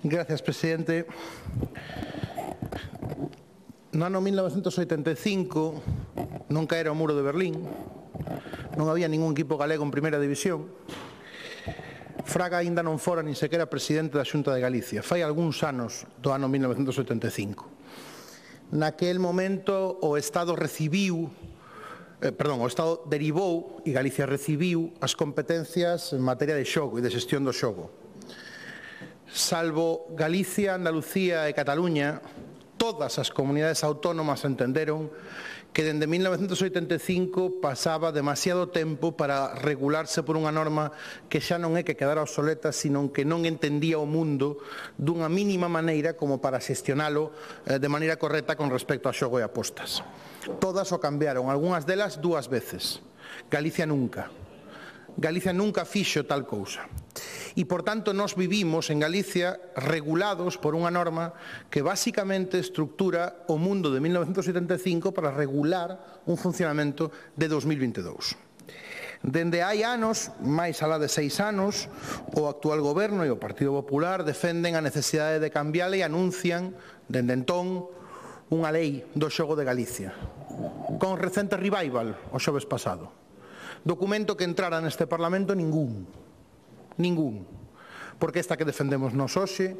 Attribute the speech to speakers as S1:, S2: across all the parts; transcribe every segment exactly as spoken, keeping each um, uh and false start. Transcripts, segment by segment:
S1: Gracias, presidente. No ano mil novecentos oitenta e cinco non caera o muro de Berlín, non había ningún equipo galego en primeira división. Fraga aínda non fora nin sequera presidente da Xunta de Galicia. Fai algúns anos do ano mil novecentos oitenta e cinco. Naquel momento o Estado recibiu, eh, perdón, o Estado derivou e Galicia recibiu as competencias en materia de xogo e de xestión do xogo. Salvo Galicia, Andalucía e Cataluña, todas as comunidades autónomas entenderon que dende mil novecentos oitenta e cinco pasaba demasiado tempo para regularse por unha norma que xa non é que quedara obsoleta, sino que non entendía o mundo dunha mínima maneira como para xestionalo de maneira correcta con respecto ao xogo e apostas. Todas o cambiaron, algunhas delas dúas veces. Galicia nunca. Galicia nunca fixo tal cousa. E, por tanto, nós vivimos en Galicia regulados por unha norma que basicamente estructura o mundo de mil novecentos oitenta e cinco para regular un funcionamento de dos mil vinte e dous. Dende hai anos, máis alá de seis anos, o actual goberno e o Partido Popular defenden a necesidade de cambiarla e anuncian, dende entón, unha lei do xogo de Galicia, con recente revival o xoves pasado. Documento que entrara neste Parlamento ningún. Ningún. Porque esta que defendemos nos hoxe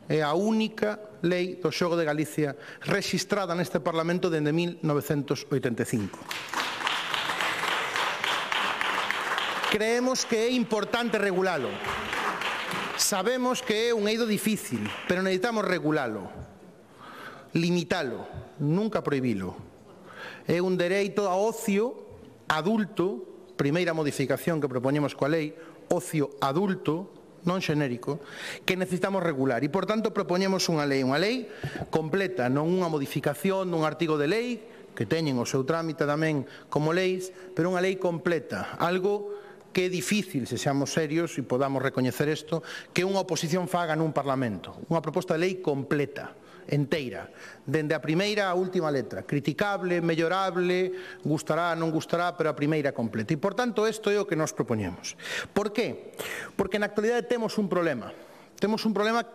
S1: é a única lei do xogo de Galicia rexistrada neste Parlamento dende mil novecentos oitenta e cinco. Creemos que é importante regulalo. Sabemos que é un eido difícil, pero necesitamos regulalo, limitalo, nunca prohibilo. É un dereito a ocio adulto, primeira modificación que propoñemos coa lei, ocio adulto, non xenérico, que necesitamos regular. E, por tanto, propoñemos unha lei, unha lei completa, non unha modificación dun artigo de lei, que teñen o seu trámite tamén como leis, pero unha lei completa, algo que é difícil, se seamos serios e podamos recoñecer isto, que unha oposición faga nun Parlamento. Unha proposta de lei completa, enteira, dende a primeira á última letra, criticable, mellorable, gustará, non gustará, pero a primeira completa. E, por tanto, isto é o que nos propoñemos. Por qué? Porque na actualidade temos un problema. Temos un problema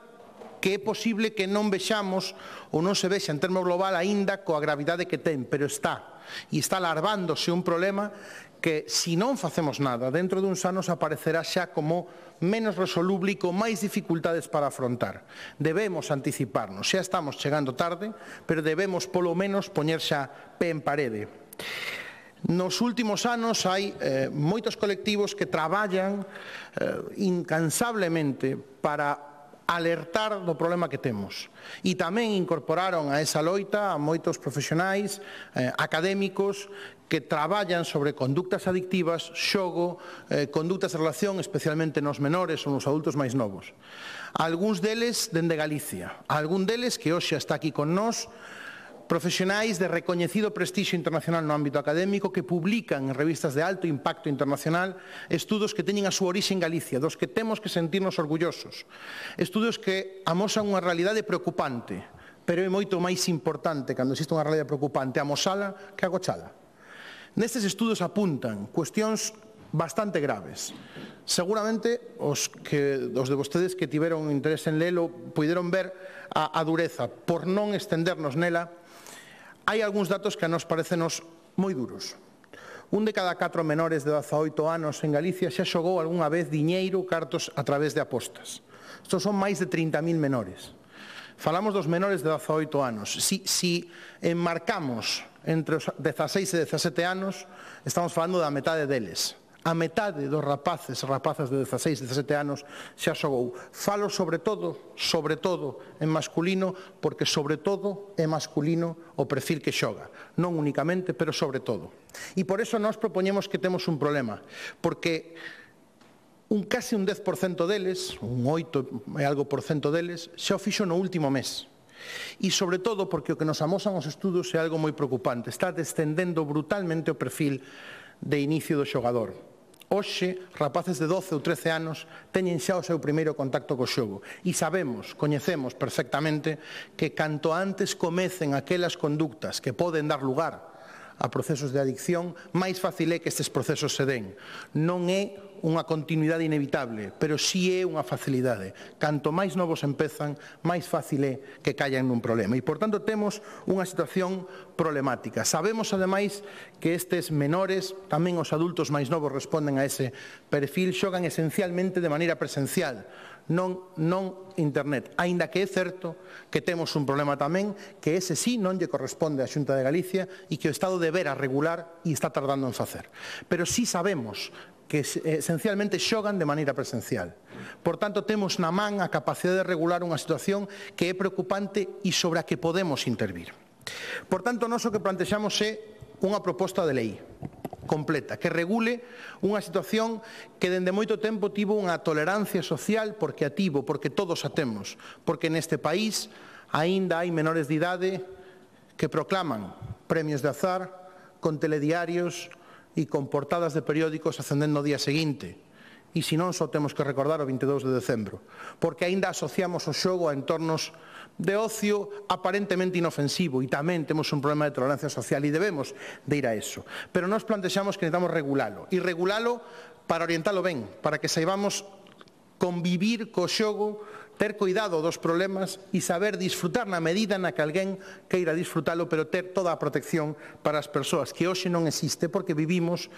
S1: que é posible que non vexamos ou non se vexa en termos global aínda coa gravidade que ten, pero está. E está alarvándose un problema que, se non facemos nada, dentro duns anos aparecerá xa como menos resoluble e con máis dificultades para afrontar. Debemos anticiparnos, xa estamos chegando tarde, pero debemos polo menos poñer xa pé en parede. Nos últimos anos hai eh, moitos colectivos que traballan eh, incansablemente para alertar do problema que temos. E tamén incorporaron a esa loita a moitos profesionais, eh, académicos, que traballan sobre conductas adictivas, xogo, eh, conductas de relación, especialmente nos menores ou nos adultos máis novos. Algúns deles dende Galicia, algún deles que hoxe está aquí con nós, profesionais de recoñecido prestixio internacional no ámbito académico que publican en revistas de alto impacto internacional estudos que teñen a súa orixe en Galicia, dos que temos que sentirnos orgullosos. Estudos que amosan unha realidade preocupante, pero é moito máis importante, cando existe unha realidade preocupante, amosala que agochala. Nestes estudos apuntan cuestións bastante graves. Seguramente os, que, os de vostedes que tiveron interés en lelo puideron ver a, a dureza. Por non extendernos nela, hai algúns datos que a nos parecenos moi duros. Un de cada catro menores de dezaoito anos en Galicia xa xogou algunha vez diñeiro, cartos a través de apostas. Estos son máis de trinta mil menores. Falamos dos menores de dezaoito anos. Si, si enmarcamos entre os dezaseis e dezasete anos, estamos falando da metade deles. A metade dos rapaces e rapazas de dezaseis e dezasete anos xa xogou. Falo sobre todo, sobre todo en masculino, porque sobre todo é masculino o perfil que xoga. Non únicamente, pero sobre todo. E por eso nós propoñemos que temos un problema, porque un case un dez por cento deles, un oito e algo por cento deles, xa o fixo no último mes. E sobre todo porque o que nos amosan os estudos é algo moi preocupante. Está descendendo brutalmente o perfil de inicio do xogador. Hoxe, rapaces de doce ou trece anos teñen xa o seu primeiro contacto co xogo e sabemos, coñecemos perfectamente que canto antes comecen aquelas conductas que poden dar lugar a procesos de adicción, máis fácil é que estes procesos se den. Non é unha continuidade inevitable, pero si é unha facilidade. Canto máis novos empezan, máis fácil é que callan nun problema. E, por tanto, temos unha situación problemática. Sabemos, ademais, que estes menores, tamén os adultos máis novos responden a ese perfil, xogan esencialmente de maneira presencial, non, non internet. Aínda que é certo que temos un problema tamén, que ese sí non lle corresponde á Xunta de Galicia e que o Estado debera regular e está tardando en facer. Pero sí sabemos que esencialmente xogan de maneira presencial. Por tanto, temos na man a capacidade de regular unha situación que é preocupante e sobre a que podemos intervir. Por tanto, nós o que plantexamos é unha proposta de lei completa, que regule unha situación que dende moito tempo tivo unha tolerancia social porque a tivo, porque todos a temos, porque neste país aínda hai menores de idade que proclaman premios de azar con telediarios e con portadas de periódicos ascendendo o día seguinte. E se non, só temos que recordar o vinte e dous de decembro, porque aínda asociamos o xogo a entornos de ocio aparentemente inofensivo e tamén temos un problema de tolerancia social e debemos de ir a eso. Pero nós plantexamos que necesitamos regulalo e regulalo para orientalo ben, para que saibamos convivir co xogo, ter cuidado dos problemas e saber disfrutar na medida na que alguén queira disfrutalo, pero ter toda a protección para as persoas, que hoxe non existe porque vivimos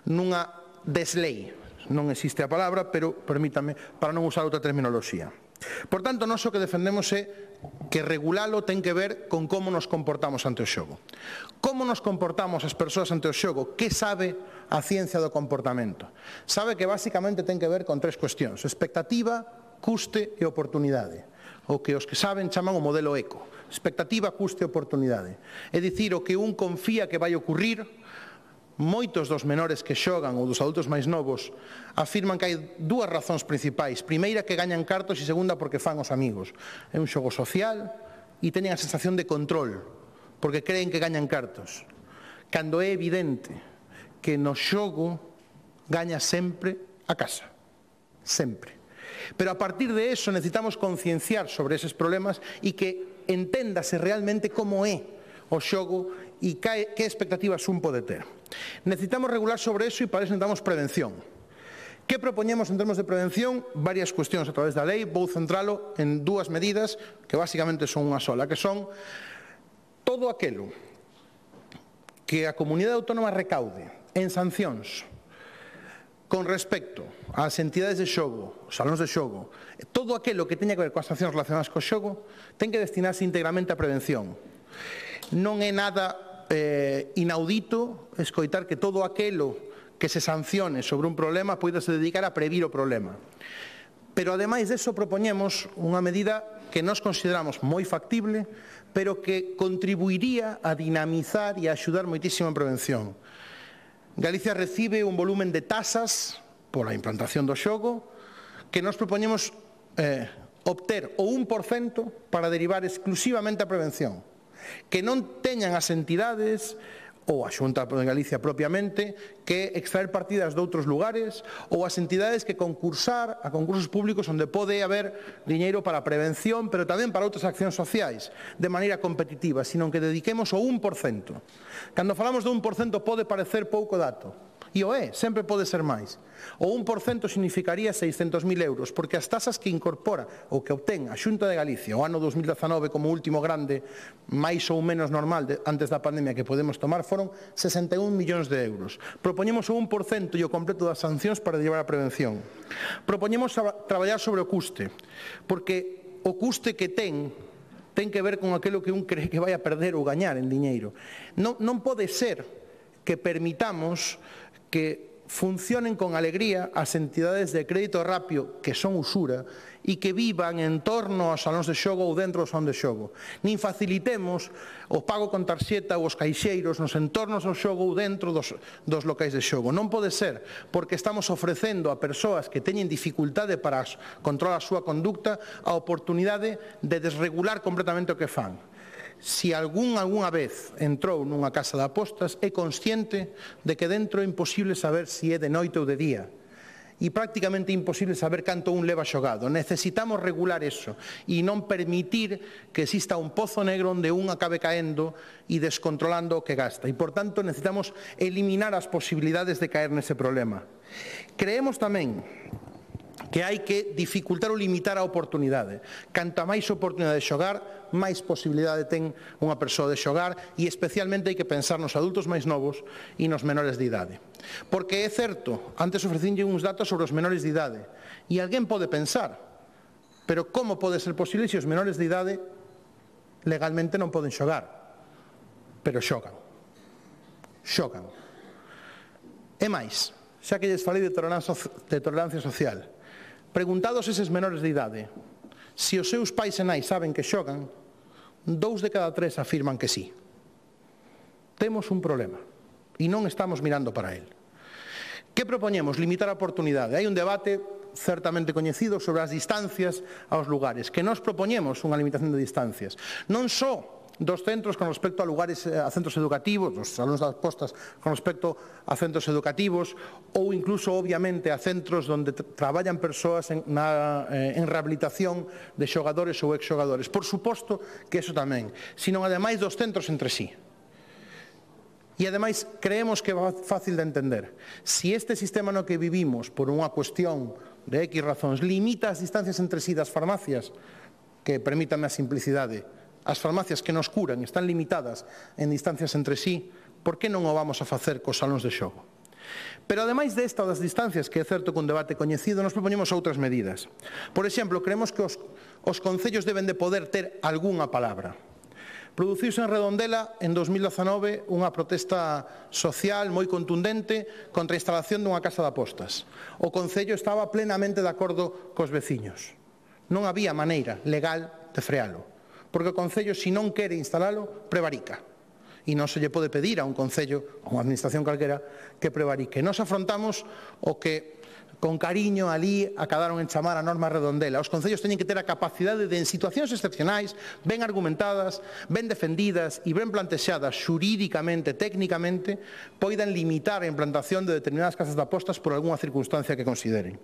S1: nunha deslei. Non existe a palabra, pero permítame, para non usar outra terminoloxía. Por tanto, nós o que defendemos é que regulalo ten que ver con como nos comportamos ante o xogo. Como nos comportamos as persoas ante o xogo? Que sabe a ciencia do comportamento? Sabe que basicamente ten que ver con tres cuestións: expectativa, custe e oportunidade. O que os que saben chaman o modelo eco. Expectativa, custe e oportunidade. É dicir, o que un confía que vai ocurrir. Moitos dos menores que xogan ou dos adultos máis novos afirman que hai dúas razóns principais. Primeira, que gañan cartos, e segunda, porque fan os amigos. É un xogo social e teñen a sensación de control, porque creen que gañan cartos. Cando é evidente que no xogo gaña sempre a casa. Sempre. Pero a partir de eso necesitamos concienciar sobre eses problemas e que enténdase realmente como é o xogo e que expectativas un pode ter. Necesitamos regular sobre eso e para eso necesitamos prevención. Que propoñemos en termos de prevención? Varias cuestións a través da lei. Vou centralo en dúas medidas que basicamente son unha sola, que son todo aquelo que a comunidade autónoma recaude en sancións con respecto ás entidades de xogo, os salóns de xogo, todo aquelo que teña que ver coas sancións relacionadas co xogo ten que destinarse íntegramente a prevención. Non é nada eh, inaudito escoitar que todo aquelo que se sancione sobre un problema poida se dedicar a previr o problema. Pero, ademais deso, propoñemos unha medida que nós consideramos moi factible, pero que contribuiría a dinamizar e a axudar moitísimo en prevención. Galicia recibe un volumen de tasas pola implantación do xogo que nós propoñemos eh, obter o un por cento para derivar exclusivamente a prevención. Que non teñan as entidades ou a Xunta de Galicia propiamente que extraer partidas de outros lugares ou as entidades que concursar a concursos públicos onde pode haber diñeiro para prevención, pero tamén para outras accións sociais de maneira competitiva, sino que dediquemos o un por cento. Cando falamos do un por cento pode parecer pouco dato, e o é, sempre pode ser máis. O un por cento significaría seiscentos mil euros, porque as tasas que incorpora ou que obtén a Xunta de Galicia o ano dos mil dezanove como último grande, máis ou menos normal de, antes da pandemia que podemos tomar, foron sesenta e un millóns de euros. Propoñemos o un por cento e o completo das sancións para llevar a prevención. Propoñemos a traballar sobre o custe, porque o custe que ten ten que ver con aquilo que un cree que vai a perder ou gañar en diñeiro. Non, non pode ser que permitamos que funcionen con alegría as entidades de crédito rápido que son usura e que vivan en torno aos salóns de xogo ou dentro do salón de xogo. Nin facilitemos o pago con tarxeta ou os caixeiros nos entornos do xogo ou dentro dos, dos locais de xogo. Non pode ser, porque estamos ofrecendo a persoas que teñen dificultade para controlar a súa conducta a oportunidade de desregular completamente o que fan. Si algún algunha vez entrou nunha casa de apostas, é consciente de que dentro é imposible saber se é de noite ou de día. E prácticamente imposible saber canto un leva xogado. Necesitamos regular eso e non permitir que exista un pozo negro onde un acabe caendo e descontrolando o que gasta. E, por tanto, necesitamos eliminar as posibilidades de caer nese problema. Creemos tamén que hai que dificultar ou limitar a oportunidade. Canta máis oportunidade de xogar, máis posibilidade ten unha persoa de xogar e especialmente hai que pensar nos adultos máis novos e nos menores de idade. Porque é certo, antes ofrecinlle uns datos sobre os menores de idade e alguén pode pensar, pero como pode ser posible se os menores de idade legalmente non poden xogar? Pero xogan. Xogan. E máis, xa que lles falei de tolerancia social, preguntados eses menores de idade se os seus pais e nais saben que xogan, dous de cada tres afirman que sí. Temos un problema e non estamos mirando para el. Que propoñemos? Limitar a oportunidade. Hai un debate certamente coñecido sobre as distancias aos lugares, que nós propoñemos unha limitación de distancias. Non só dos centros con respecto a lugares, a centros educativos, dos salones das postas con respecto a centros educativos ou incluso, obviamente, a centros onde traballan persoas en, na, eh, en rehabilitación de xogadores ou exxogadores. Por suposto que eso tamén, sino ademais dos centros entre sí. E ademais creemos que é fácil de entender. Si este sistema no que vivimos, por unha cuestión de X razóns, limita as distancias entre sí das farmacias, que permítame a simplicidade, as farmacias que nos curan están limitadas en distancias entre sí, por que non o vamos a facer cos salóns de xogo? Pero ademais desta das distancias, que é certo que un debate coñecido, nos propoñemos outras medidas. Por exemplo, creemos que os, os concellos deben de poder ter algunha palabra. Produciuse en Redondela en dos mil dezanove unha protesta social moi contundente contra a instalación dunha casa de apostas. O Concello estaba plenamente de acordo cos veciños. Non había maneira legal de frealo, porque o Concello, se non quere instalalo, prevarica. E non se lle pode pedir a un Concello, a unha administración calquera, que prevarique. Nos afrontamos o que con cariño ali acabaron en chamar a norma Redondela. Os concellos teñen que ter a capacidade de, en situacións excepcionais, ben argumentadas, ben defendidas e ben plantexadas xurídicamente, técnicamente, poidan limitar a implantación de determinadas casas de apostas por algunha circunstancia que consideren.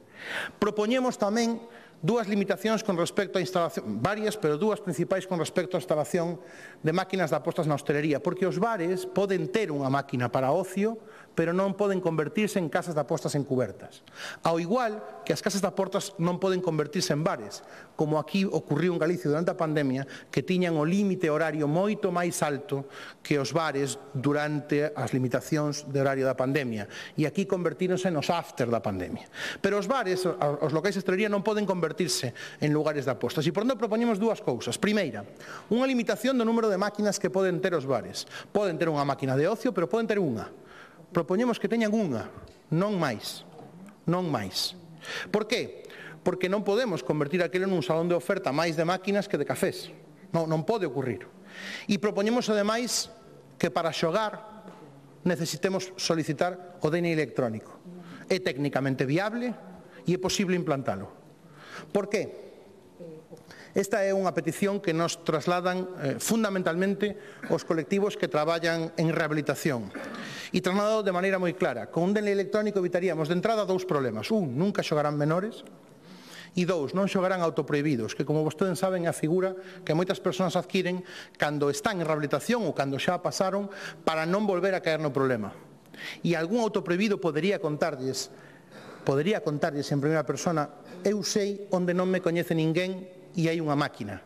S1: Propoñemos tamén dúas limitacións con respecto a instalación, varias, pero dúas principais con respecto a instalación de máquinas de apostas na hostelería, porque os bares poden ter unha máquina para ocio, pero non poden convertirse en casas de apostas encubertas. Ao igual que as casas de apostas non poden convertirse en bares, como aquí ocurriu en Galicia durante a pandemia, que tiñan o límite horario moito máis alto que os bares durante as limitacións de horario da pandemia. E aquí convertíronse nos after da pandemia. Pero os bares, os locais de hostelería, non poden convertirse en lugares de apostas. E por onde propoñemos dúas cousas. Primeira, unha limitación do número de máquinas que poden ter os bares. Poden ter unha máquina de ocio, pero poden ter unha. Propoñemos que teñan unha, non máis, non máis. Por qué? Porque non podemos convertir aquilo nun salón de oferta máis de máquinas que de cafés. Non, non pode ocurrir. E propoñemos, ademais, que para xogar necesitemos solicitar o D N I electrónico. É técnicamente viable e é posible implantalo. Por qué? Esta é unha petición que nos trasladan eh, fundamentalmente os colectivos que traballan en rehabilitación. E trasladado de maneira moi clara. Con un D N I electrónico evitaríamos de entrada dous problemas. Un, nunca xogarán menores. E dous, non xogarán autoprohibidos, que como vostedes saben é a figura que moitas persoas adquiren cando están en rehabilitación ou cando xa pasaron para non volver a caer no problema. E algún autoprohibido podería contarlles, podería contarlles en primeira persona: eu sei onde non me coñece ninguén e hai unha máquina.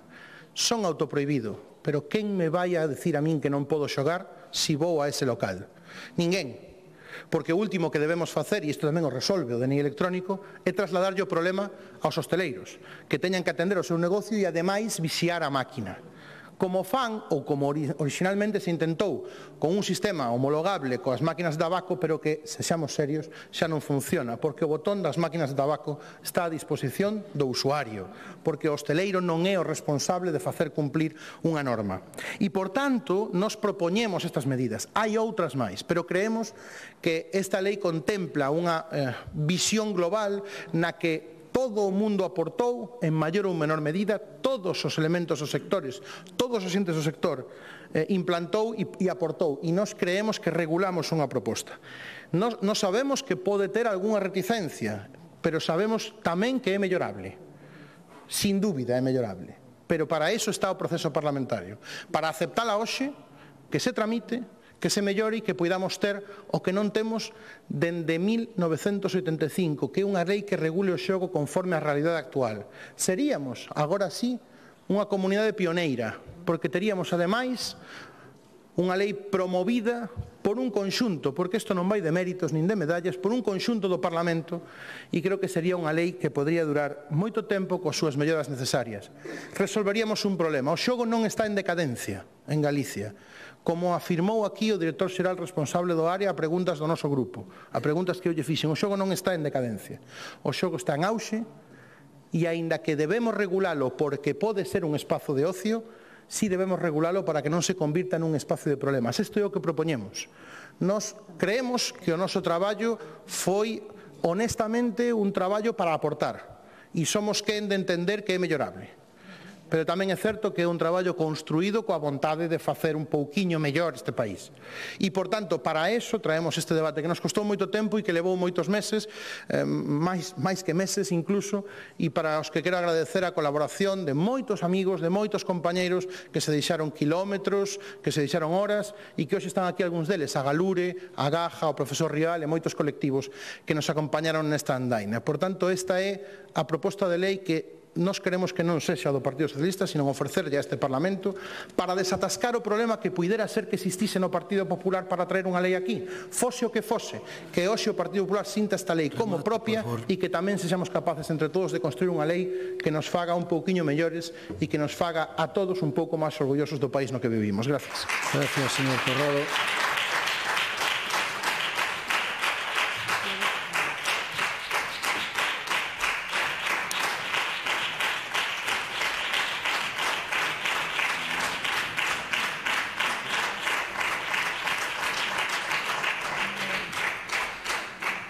S1: Son autoprohibido, pero quen me vai a decir a min que non podo xogar se vou a ese local? Ninguén. Porque o último que debemos facer, e isto tamén o resolve o D N I electrónico, é trasladarlle o problema aos hosteleiros, que teñan que atender o seu negocio e ademais vixiar a máquina. Como fan, ou como originalmente se intentou, con un sistema homologable coas máquinas de tabaco, pero que, se xamos serios, xa non funciona, porque o botón das máquinas de tabaco está a disposición do usuario, porque o hosteleiro non é o responsable de facer cumplir unha norma. E, por tanto, nos propoñemos estas medidas. Hai outras máis, pero creemos que esta lei contempla unha eh, visión global na que todo o mundo aportou, en maior ou menor medida, todos os elementos dos sectores, todos os entes do sector eh, implantou e, e aportou, e nós creemos que regulamos unha proposta. Nos, nos sabemos que pode ter algunha reticencia, pero sabemos tamén que é mellorable. Sin dúbida é mellorable. Pero para iso está o proceso parlamentario. Para aceptala hoxe, que se tramite, que se mellore e que poidamos ter o que non temos dende mil novecentos oitenta e cinco, que é unha lei que regule o xogo conforme á realidade actual. Seríamos, agora sí, unha comunidade pioneira, porque teríamos, ademais, unha lei promovida por un conxunto, porque isto non vai de méritos nin de medallas, por un conxunto do Parlamento, e creo que sería unha lei que podría durar moito tempo coas súas melloras necesarias. Resolveríamos un problema. O xogo non está en decadencia en Galicia, como afirmou aquí o director xeral responsable do área a preguntas do noso grupo, a preguntas que eu lle fixen. O xogo non está en decadencia. O xogo está en auxe, e aínda que debemos regulalo porque pode ser un espazo de ocio, si debemos regulalo para que non se convirta nun espacio de problemas. Isto é o que propoñemos. Nos creemos que o noso traballo foi honestamente un traballo para aportar e somos quen de entender que é mellorable. Pero tamén é certo que é un traballo construído coa vontade de facer un pouquiño mellor este país. E, por tanto, para eso traemos este debate que nos costou moito tempo e que levou moitos meses, eh, máis, máis que meses incluso, e para os que quero agradecer a colaboración de moitos amigos, de moitos compañeiros que se deixaron quilómetros, que se deixaron horas e que hoxe están aquí algúns deles, a Galure, a Gaja, o profesor Rial e moitos colectivos que nos acompañaron nesta andaina. Por tanto, esta é a proposta de lei que nós queremos que non sexa do Partido Socialista, sino ofrecerlle a este Parlamento para desatascar o problema que puidera ser que existise no Partido Popular para traer unha lei aquí. Fose o que fose, que hoxe o Partido Popular sinta esta lei como propia e que tamén sexamos capaces entre todos de construir unha lei que nos faga un pouquiño mellores e que nos faga a todos un pouco máis orgullosos do país no que vivimos. Gracias.
S2: Gracias, señor Corrado.